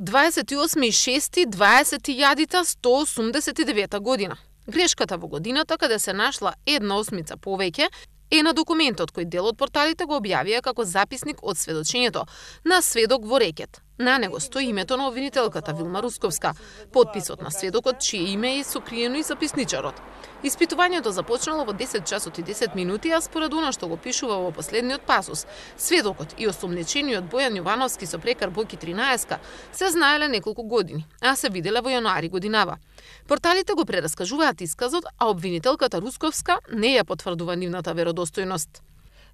28.6.20.189 година. Грешката во годината каде се нашла 1/8 повеќе е на документот кој дел од порталите го објавија како записник од сведочењето на сведок во рекет. На него стои името на обвинителката Вилма Русковска, подписот на сведокот чие име е сокриено и записничарот. Испитувањето започнало во 10 часот и 10 минути, а според она што го пишува во последниот пасус, сведокот и осомничениот Бојан Јовановски со прекар Боки 13 се знаеле неколку години, а се виделе во јануари годинава. Порталите го прераскажуваат исказот, а обвинителката Русковска не ја потврдува нивната веродостојност.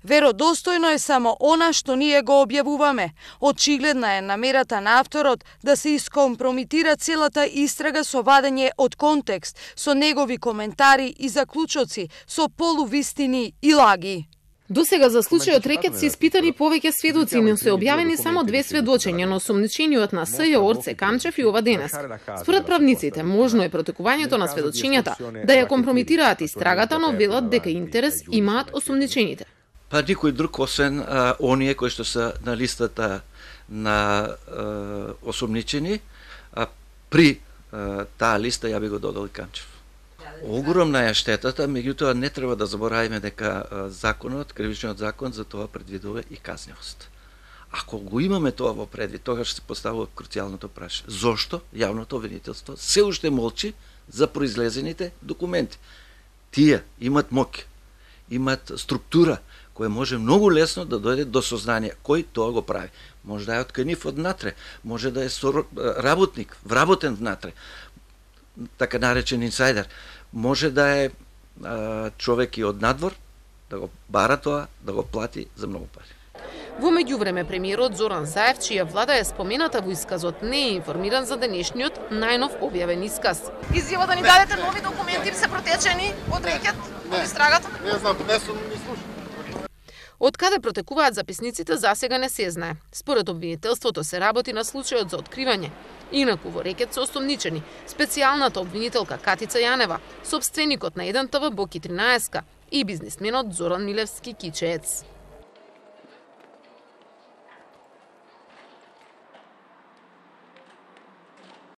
Веродостојно е само она што ние го објавуваме. Очигледна е намерата на авторот да се искомпромитира целата истрага со вадење од контекст, со негови коментари и заклучоци, со полувистини и лаги. Досега за случајот рекет се испитани повеќе сведоци, но се објавени само 2 сведочења на осомничениот на СЈ Орце Камчев и ова денес. Според правниците, можно е протекувањето на сведочењата да ја компрометираат истрагата, но велат дека интерес имаат осомничените. Па никој друг освен оние кои што се на листата на осомничени, а при таа листа ја би го додал Камчев. Огромна е штетата, меѓутоа не треба да забораваме дека законот, кривичниот закон за тоа предвидува и казнивост. Ако го имаме тоа во предвид, тогаш се поставува круцијалното прашање. Зошто јавното обвинителство се уште молчи за произлезените документи? Тие имат моќ, имат структура која може многу лесно да дојде до сознание кој тоа го прави. Може да е отканив однатре, може да е работник, вработен внатре, така наречен инсайдер, може да е човек и од надвор, да го бара тоа, да го плати за многу пари. Во меѓувреме премиерот Зоран Заев, чија влада е спомената во исказот, не е информиран за денешниот најнов објавен исказ. Изјава да ни дадете нови документи се протечени од рекет, од истрагата? Не знам, не сум ни слушал. Од каде протекуваат записниците засега не се знае. Според обвинителството се работи на случајот за откривање. Инаку во рекет се осомничени специјалната обвинителка Катица Јанева, сопственикот на 1 ТВ Боки 13 и бизнисменот Зоран Милевски Кичеец.